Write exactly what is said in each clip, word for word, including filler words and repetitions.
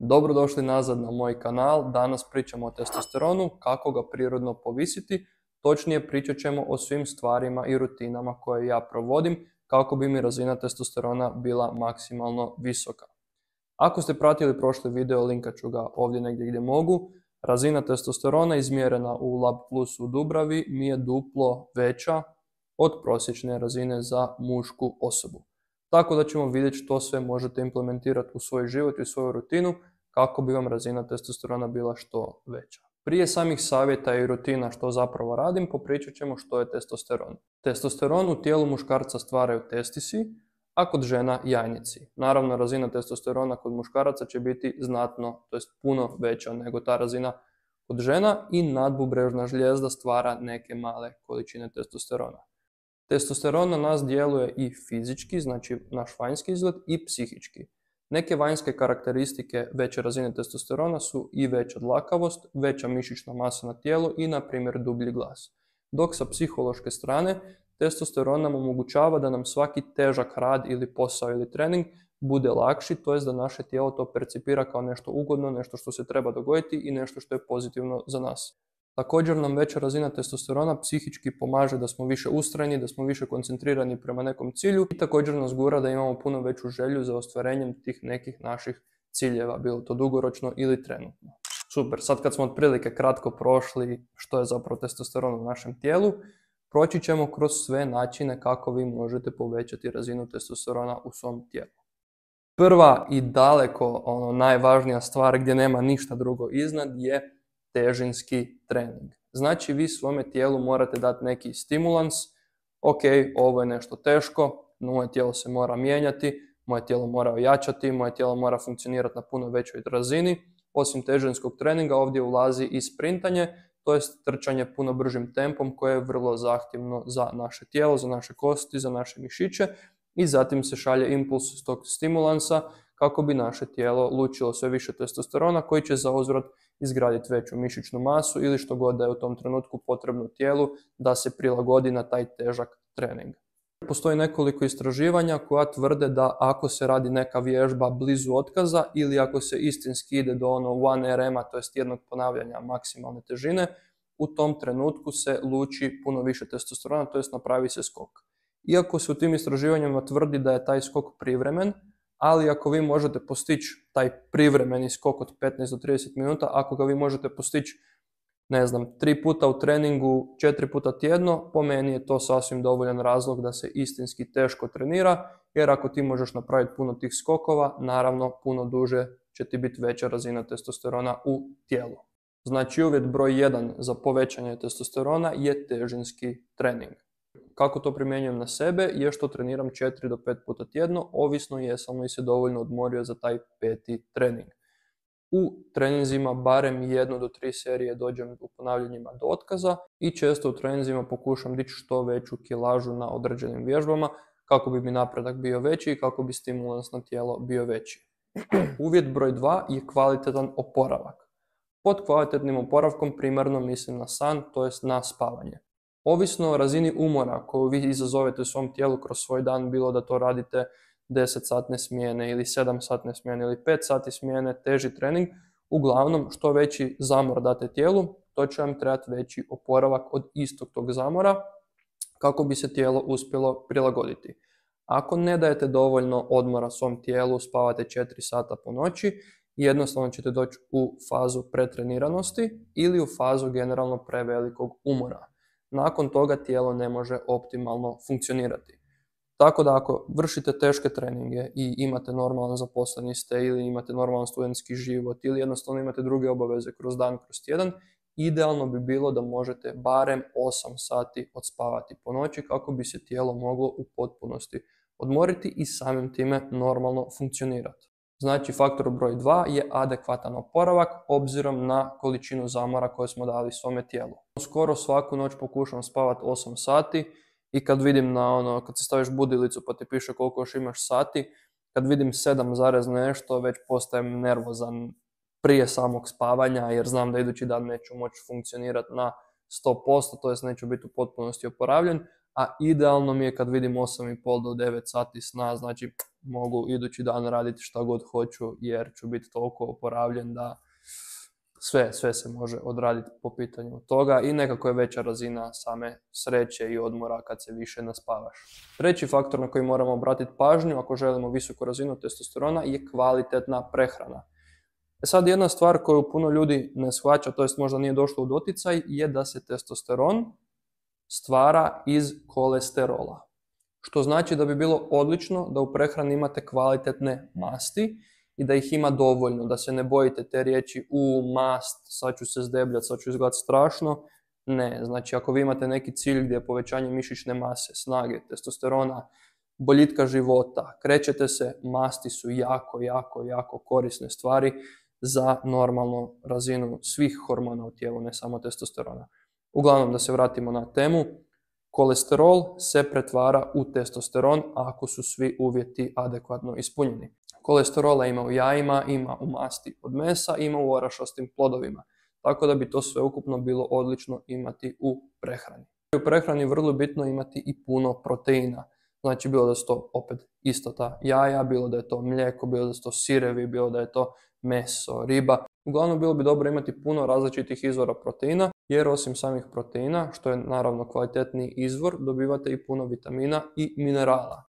Dobrodošli nazad na moj kanal. Danas pričamo o testosteronu, kako ga prirodno povisiti. Točnije pričat ćemo o svim stvarima i rutinama koje ja provodim kako bi mi razina testosterona bila maksimalno visoka. Ako ste pratili prošli video, linkat ću ga ovdje negdje gdje mogu. Razina testosterona izmjerena u Lab Plus u Dubravi mi je duplo veća od prosječne razine za mušku osobu. Tako da ćemo vidjeti što sve možete implementirati u svoj život i svoju rutinu kako bi vam razina testosterona bila što veća. Prije samih savjeta i rutina što zapravo radim, popričat ćemo što je testosteron. Testosteron u tijelu muškarca stvaraju testisi, a kod žena jajnici. Naravno, razina testosterona kod muškaraca će biti znatno, to jest puno veća nego ta razina kod žena i nadbubrežna žlijezda stvara neke male količine testosterona. Testosteron na nas djeluje i fizički, znači naš vanjski izgled, i psihički. Neke vanjske karakteristike veće razine testosterona su i veća dlakavost, veća mišićna masa na tijelu i, na primjer, dublji glas. Dok sa psihološke strane, testosteron nam omogućava da nam svaki težak rad ili posao ili trening bude lakši, to jest da naše tijelo to percipira kao nešto ugodno, nešto što se treba dogoditi i nešto što je pozitivno za nas. Također nam veća razina testosterona psihički pomaže da smo više ustrajni, da smo više koncentrirani prema nekom cilju i također nas gura da imamo puno veću želju za ostvarenjem tih nekih naših ciljeva, bilo to dugoročno ili trenutno. Super, sad kad smo otprilike kratko prošli što je zapravo testosteron u našem tijelu, proći ćemo kroz sve načine kako vi možete povećati razinu testosterona u svom tijelu. Prva i daleko ono, najvažnija stvar gdje nema ništa drugo iznad je težinski trening. Znači vi svome tijelu morate dati neki stimulans, ok, ovo je nešto teško, moje tijelo se mora mijenjati, moje tijelo mora ojačati, moje tijelo mora funkcionirati na puno većoj razini. Osim težinskog treninga ovdje ulazi i sprintanje, to jest trčanje puno bržim tempom koje je vrlo zahtjevno za naše tijelo, za naše kosti, za naše mišiće i zatim se šalje impuls s tog stimulansa kako bi naše tijelo lučilo sve više testosterona koji će zauzvrat izgraditi veću mišićnu masu ili što god da je u tom trenutku potrebno tijelu da se prilagodi na taj težak trening. Postoji nekoliko istraživanja koja tvrde da ako se radi neka vježba blizu otkaza ili ako se istinski ide do ono one R M-a, to jest jednog ponavljanja maksimalne težine, u tom trenutku se luči puno više testosterona, to jest napravi se skok. Iako se u tim istraživanjima tvrdi da je taj skok privremen, ali ako vi možete postići taj privremeni skok od petnaest do trideset minuta, ako ga vi možete postići, ne znam, tri puta u treningu, četiri puta tjedno, po meni je to sasvim dovoljan razlog da se istinski teško trenira, jer ako ti možeš napraviti puno tih skokova, naravno puno duže će ti biti veća razina testosterona u tijelu. Znači uvjet broj jedan za povećanje testosterona je težinski trening. Kako to primjenjujem na sebe je što treniram četiri do pet puta tjedno, ovisno jesam li se dovoljno odmorio za taj peti trening. U treninzima barem jednu do tri serije dođem u ponavljanjima do otkaza i često u treninzima pokušam dići što veću kilažu na određenim vježbama kako bi mi napredak bio veći i kako bi stimulans na tijelo bio veći. Uvjet broj dva je kvalitetan oporavak. Pod kvalitetnim oporavkom primarno mislim na san, to jest na spavanje. Ovisno o razini umora koju vi izazovete u svom tijelu kroz svoj dan, bilo da to radite deset satne smjene ili sedam satne smjene ili pet sati smjene, teži trening, uglavnom što veći zamor date tijelu, to će vam trebati veći oporavak od istog tog zamora kako bi se tijelo uspjelo prilagoditi. Ako ne dajete dovoljno odmora svom tijelu, spavate četiri sata po noći, jednostavno ćete doći u fazu pretreniranosti ili u fazu generalno prevelikog umora. Nakon toga tijelo ne može optimalno funkcionirati. Tako da ako vršite teške treninge i imate normalan zaposleni ste ili imate normalan studentski život ili jednostavno imate druge obaveze kroz dan, kroz tjedan, idealno bi bilo da možete barem osam sati odspavati po noći kako bi se tijelo moglo u potpunosti odmoriti i samim time normalno funkcionirati. Znači faktor broj dva je adekvatan oporavak obzirom na količinu zamora koje smo dali svome tijelu. Skoro svaku noć pokušam spavati osam sati i kad vidim na ono, kad se staviš budilicu pa ti piše koliko još imaš sati, kad vidim sedam zarez nešto već postajem nervozan prije samog spavanja jer znam da idući dan neću moći funkcionirati na sto posto, to jest neću biti u potpunosti oporavljen, a idealno mi je kad vidim osam i pol do devet sati sna, znači mogu idući dan raditi šta god hoću jer ću biti toliko oporavljen da sve, sve se može odraditi po pitanju toga i nekako je veća razina same sreće i odmora kad se više naspavaš. Treći faktor na koji moramo obratiti pažnju ako želimo visoku razinu testosterona je kvalitetna prehrana. E sad jedna stvar koju puno ljudi ne shvaća, to jest možda nije došlo u doticaj, je da se testosteron stvara iz kolesterola. Što znači da bi bilo odlično da u prehrani imate kvalitetne masti i da ih ima dovoljno, da se ne bojite te riječi u mast, sad ću se zdebljati, sad ću izgledati strašno. Ne, znači ako vi imate neki cilj gdje je povećanje mišićne mase, snage, testosterona, boljitka života, krećete se, masti su jako, jako, jako korisne stvari za normalnu razinu svih hormona u tijelu, ne samo testosterona. Uglavnom, da se vratimo na temu, kolesterol se pretvara u testosteron ako su svi uvjeti adekvatno ispunjeni. Kolesterola ima u jajima, ima u masti od mesa, ima u orašastim plodovima. Tako da bi to sve ukupno bilo odlično imati u prehrani. U prehrani vrlo bitno imati i puno proteina. Znači bilo da su to opet isto ta jaja, bilo da je to mlijeko, bilo da su to sirevi, bilo da je to meso, riba. Uglavnom bilo bi dobro imati puno različitih izvora proteina, jer osim samih proteina, što je naravno kvalitetniji izvor, dobivate i puno vitamina i minerala.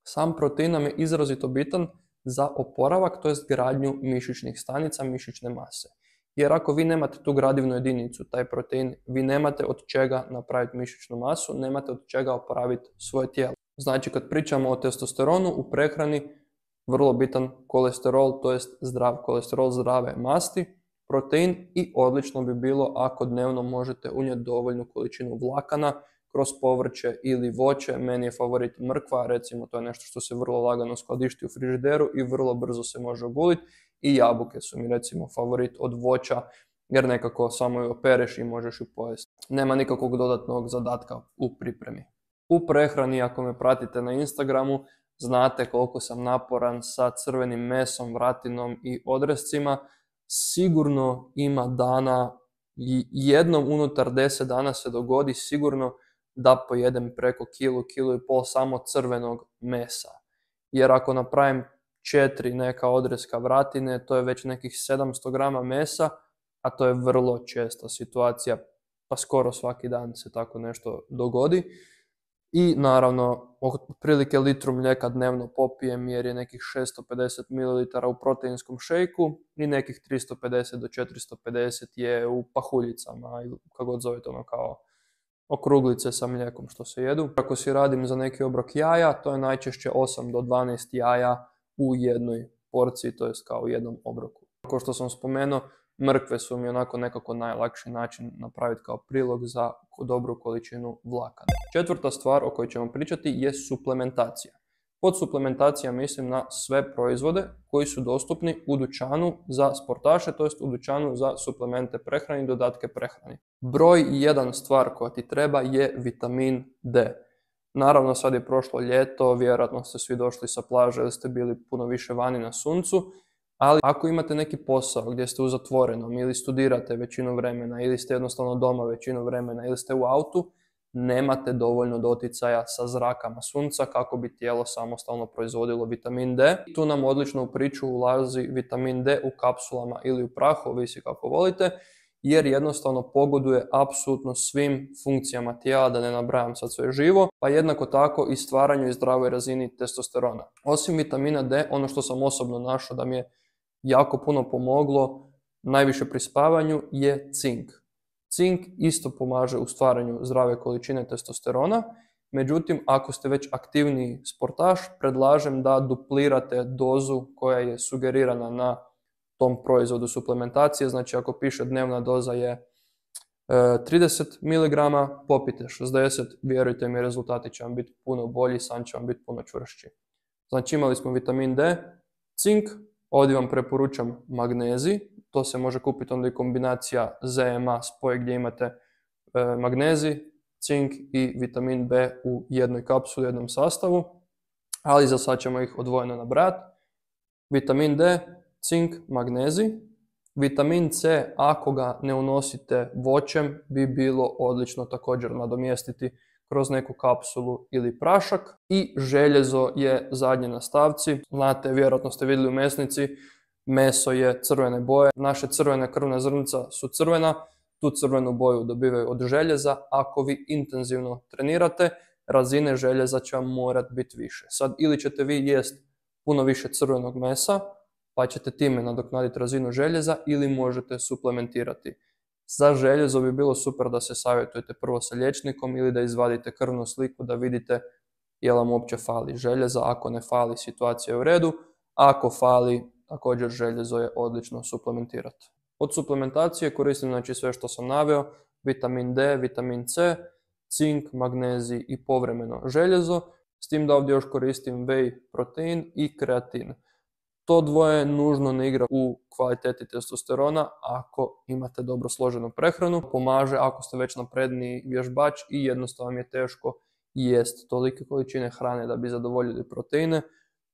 Sam protein nam je izrazito bitan za oporavak, to jest gradnju mišićnih stanica, mišićne mase. Jer ako vi nemate tu gradivnu jedinicu, taj protein, vi nemate od čega napraviti mišićnu masu, nemate od čega oporaviti svoje tijelo. Znači kad pričamo o testosteronu u prehrani, vrlo bitan kolesterol, to jest zdrav kolesterol, zdrave masti, protein i odlično bi bilo ako dnevno možete unijeti dovoljnu količinu vlakana kroz povrće ili voće. Meni je favorit mrkva, recimo to je nešto što se vrlo lagano skladišti u frižideru i vrlo brzo se može oguliti. I jabuke su mi recimo favorit od voća jer nekako samo ju opereš i možeš ju pojesti. Nema nikakvog dodatnog zadatka u pripremi. U prehrani, ako me pratite na Instagramu, znate koliko sam naporan sa crvenim mesom, vratinom i odrescima. Sigurno ima dana, jednom unutar deset dana se dogodi sigurno da pojedem preko kilu, kilu i pol samo crvenog mesa. Jer ako napravim četiri neka odreska vratine, to je već nekih sedamsto grama mesa, a to je vrlo česta situacija, pa skoro svaki dan se tako nešto dogodi. I naravno, otprilike litru mlijeka dnevno popijem jer je nekih šesto pedeset mililitara u proteinskom šejku i nekih tristo pedeset do četiristo pedeset je u pahuljicama, ili kako god zovete ono kao okruglice sa mlijekom što se jedu. Ako si radim za neki obrok jaja, to je najčešće osam do dvanaest jaja u jednoj porciji, to jest kao u jednom obroku. Kao što sam spomenuo, mrkve su mi onako nekako najlakši način napraviti kao prilog za dobru količinu vlakana. Četvrta stvar o kojoj ćemo pričati je suplementacija. Pod suplementacija mislim na sve proizvode koji su dostupni u dućanu za sportaše, to jest u dućanu za suplemente prehrani i dodatke prehrani. Broj jedan stvar koja ti treba je vitamin D. Naravno sad je prošlo ljeto, vjerojatno ste svi došli sa plaže ili ste bili puno više vani na suncu, ali ako imate neki posao gdje ste u zatvorenom ili studirate većinu vremena ili ste jednostavno doma većinu vremena ili ste u autu, nemate dovoljno doticaja sa zrakama sunca kako bi tijelo samostalno proizvodilo vitamin D. Tu nam odlično u priču ulazi vitamin D u kapsulama ili u prahu, ovisi kako volite, jer jednostavno pogoduje apsolutno svim funkcijama tijela, da ne nabrajam sad sve živo, pa jednako tako i stvaranju i zdravoj razini testosterona. Osim vitamina D, ono što sam osobno našao da mi je jako puno pomoglo, najviše pri spavanju, je cink. Cink isto pomaže u stvaranju zdrave količine testosterona, međutim, ako ste već aktivniji sportaš, predlažem da duplirate dozu koja je sugerirana na tom proizvodu suplementacije. Znači, ako piše dnevna doza je e, trideset miligrama, popite šezdeset, vjerujte mi, rezultati će vam biti puno bolji, san će vam biti puno čvršći. Znači, imali smo vitamin D, cink, ovdje vam preporučam magnezij, to se može kupiti onda i kombinacija Z M A spoj gdje imate e, magnezij, cink i vitamin B u jednoj kapsuli, u jednom sastavu, ali za sad ćemo ih odvojeno nabrati. Vitamin D, cink, magnezij. Vitamin C, ako ga ne unosite voćem, bi bilo odlično također nadomjestiti kroz neku kapsulu ili prašak. I željezo je zadnje na stavci. Znate, vjerojatno ste vidjeli u mesnici, meso je crvene boje. Naše crvene krvne zrnca su crvena, tu crvenu boju dobivaju od željeza. Ako vi intenzivno trenirate, razine željeza će vam morat biti više. Sad, ili ćete vi jest puno više crvenog mesa, pa ćete time nadoknaditi razinu željeza, ili možete suplementirati. Za željezo bi bilo super da se savjetujete prvo sa liječnikom ili da izvadite krvnu sliku da vidite je li vam uopće fali željeza. Ako ne fali, situacija je u redu. Ako fali, također željezo je odlično suplementirati. Od suplementacije koristim znači sve što sam naveo, vitamin D, vitamin C, cink, magnezij i povremeno željezo, s tim da ovdje još koristim whey protein i kreatin. To dvoje nužno ne igra u kvaliteti testosterona ako imate dobro složenu prehranu. Pomaže ako ste već napredniji vježbač i jednostavno vam je teško jest tolike količine hrane da bi zadovoljili proteine.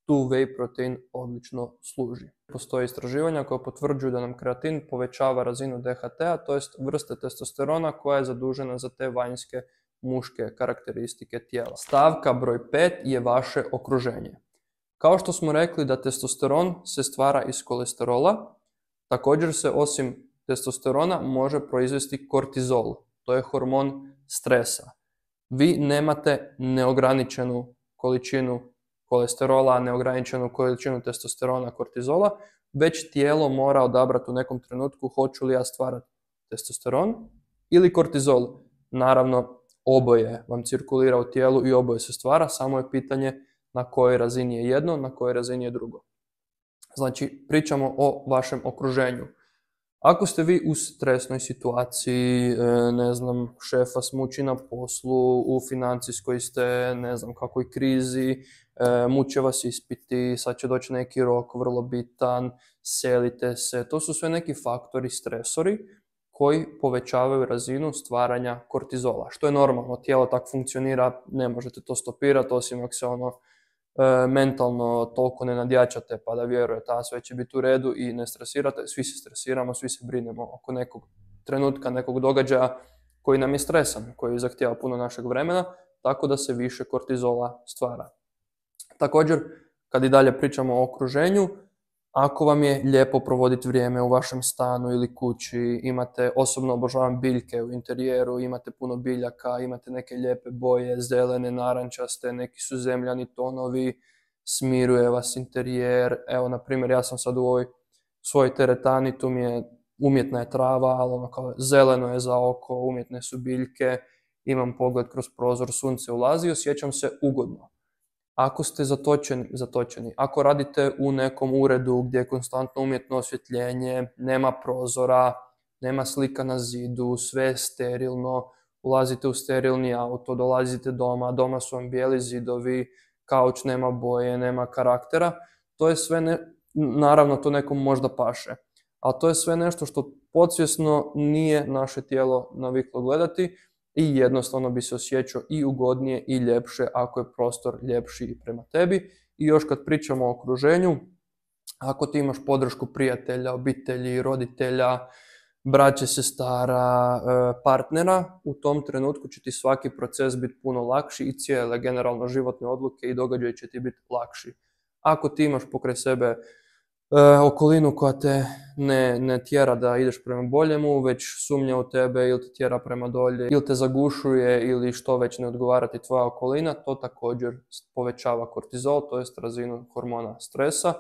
Tu whey protein odlično služi. Postoje istraživanja koja potvrđuju da nam kreatin povećava razinu D H T-a, to jest vrste testosterona koja je zadužena za te vanjske muške karakteristike tijela. Stavka broj pet je vaše okruženje. Kao što smo rekli da testosteron se stvara iz kolesterola, također se osim testosterona može proizvesti kortizol, to je hormon stresa. Vi nemate neograničenu količinu kolesterola, neograničenu količinu testosterona, kortizola, već tijelo mora odabrati u nekom trenutku hoću li ja stvarati testosteron ili kortizol. Naravno, oboje vam cirkulira u tijelu i oboje se stvara, samo je pitanje na kojoj razini je jedno, na kojoj razini je drugo. Znači, pričamo o vašem okruženju. Ako ste vi u stresnoj situaciji, ne znam, šef vas muči na poslu, u financijskoj ste, ne znam, kakvoj krizi, muče vas ispiti, sad će doći neki rok vrlo bitan, selite se, to su sve neki faktori, stresori koji povećavaju razinu stvaranja kortizola, što je normalno, tijelo tako funkcionira, ne možete to stopirati, osim ako se ono e, mentalno toliko ne nadjačate pa da vjerujete, a sve će biti u redu i ne stresirate, svi se stresiramo, svi se brinemo oko nekog trenutka, nekog događaja koji nam je stresan, koji zahtijeva puno našeg vremena, tako da se više kortizola stvara. Također, kad i dalje pričamo o okruženju, ako vam je lijepo provoditi vrijeme u vašem stanu ili kući, imate, osobno obožavam biljke u interijeru, imate puno biljaka, imate neke lijepe boje, zelene, narančaste, neki su zemljani tonovi, smiruje vas interijer. Evo, na primjer, ja sam sad u ovoj svojoj teretani, tu mi je umjetna je trava, ali ono kao zeleno je za oko, umjetne su biljke, imam pogled kroz prozor, sunce ulazi i osjećam se ugodno. Ako ste zatočeni, zatočeni, ako radite u nekom uredu gdje je konstantno umjetno osvjetljenje, nema prozora, nema slika na zidu, sve je sterilno, ulazite u sterilni auto, dolazite doma, doma su vam bijeli zidovi, kauč nema boje, nema karaktera, to je sve, ne, naravno to nekom možda paše, ali to je sve nešto što podsvjesno nije naše tijelo naviklo gledati, i jednostavno bi se osjećao i ugodnije i ljepše ako je prostor ljepši i prema tebi. I još kad pričamo o okruženju, ako ti imaš podršku prijatelja, obitelji, roditelja, braće, sestara, partnera, u tom trenutku će ti svaki proces biti puno lakši i cijele generalno životne odluke i događaji će ti biti lakši. Ako ti imaš pokraj sebe E, okolinu koja te ne, ne tjera da ideš prema boljemu, već sumnja u tebe ili te tjera prema dolje, ili te zagušuje ili što već ne odgovara ti tvoja okolina, to također povećava kortizol, to jest razinu hormona stresa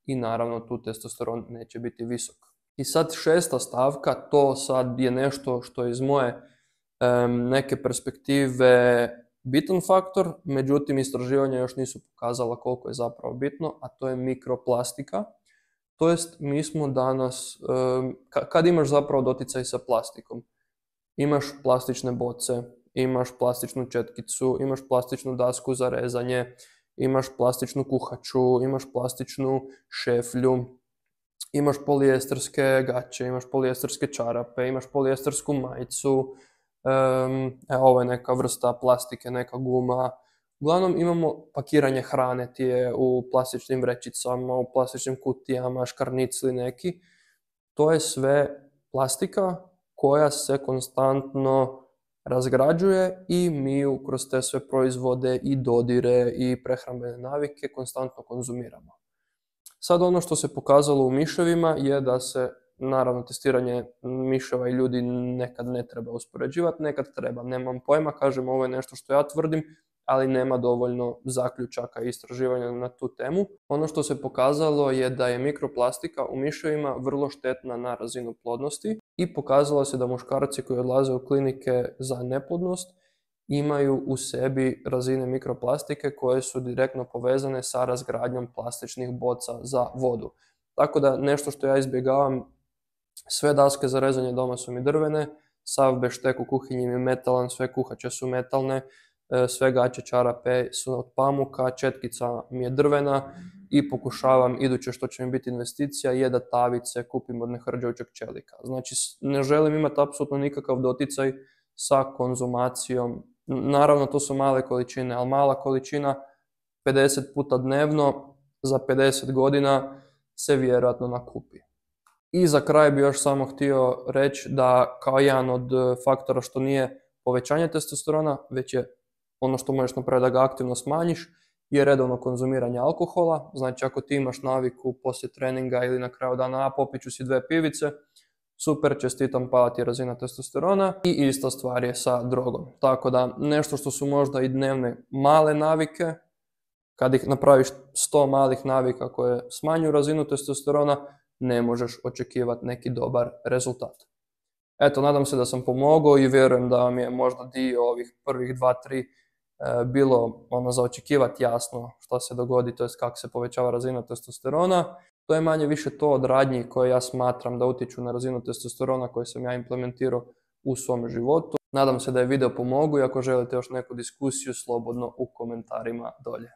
i naravno tu testosteron neće biti visok. I sad šesta stavka, to sad je nešto što iz moje um, neke perspektive bitan faktor, međutim istraživanja još nisu pokazala koliko je zapravo bitno, a to je mikroplastika. To jest, mi smo danas, kad imaš zapravo doticaj sa plastikom, imaš plastične boce, imaš plastičnu četkicu, imaš plastičnu dasku za rezanje, imaš plastičnu kuhaču, imaš plastičnu šeflju, imaš polijesterske gaće, imaš polijesterske čarape, imaš polijestersku majicu, evo ovo je neka vrsta plastike, neka guma. Uglavnom imamo pakiranje hrane, ti je u plastičnim vrećicama, u plastičnim kutijama, škarnicli neki. To je sve plastika koja se konstantno razgrađuje i mi ju kroz te sve proizvode i dodire i prehrambene navike konstantno konzumiramo. Sad ono što se pokazalo u miševima je da se, naravno testiranje miševa i ljudi nekad ne treba uspoređivati, nekad treba. Nemam pojma, kažem, ovo je nešto što ja tvrdim, ali nema dovoljno zaključaka i istraživanja na tu temu. Ono što se pokazalo je da je mikroplastika u miševima vrlo štetna na razinu plodnosti i pokazalo se da muškarci koji odlaze u klinike za neplodnost imaju u sebi razine mikroplastike koje su direktno povezane sa razgradnjom plastičnih boca za vodu. Tako da nešto što ja izbjegavam, sve daske za rezanje doma su mi drvene, sav beštek u kuhinji mi je metalan, sve kuhače su metalne, sve gaće, čarape su od pamuka, četkica mi je drvena i pokušavam, iduće što će mi biti investicija je da tavice kupim od nehrđajućeg čelika. Znači ne želim imati apsolutno nikakav doticaj sa konzumacijom. Naravno to su male količine, ali mala količina pedeset puta dnevno za pedeset godina se vjerojatno nakupi. I za kraj bi još samo htio reći da kao jedan od faktora što nije povećanje testosterona, već je ono što možeš napraviti da ga aktivno smanjiš, je redovno konzumiranje alkohola. Znači ako ti imaš naviku poslije treninga ili na kraju dana, a popit ću si dve pivice, super, čestitam, pala ti je razina testosterona. I ista stvar je sa drogom. Tako da nešto što su možda i dnevne male navike, kad ih napraviš sto malih navika koje smanjuju razinu testosterona, ne možeš očekivati neki dobar rezultat. Eto, nadam se da sam pomogao i vjerujem da vam je možda dio ovih prvih dva, tri bilo ono za očekivati jasno što se dogodi, to jest kako se povećava razina testosterona. To je manje više to od radnji koje ja smatram da utječu na razinu testosterona koje sam ja implementirao u svom životu. Nadam se da je video pomogao i ako želite još neku diskusiju, slobodno u komentarima dolje.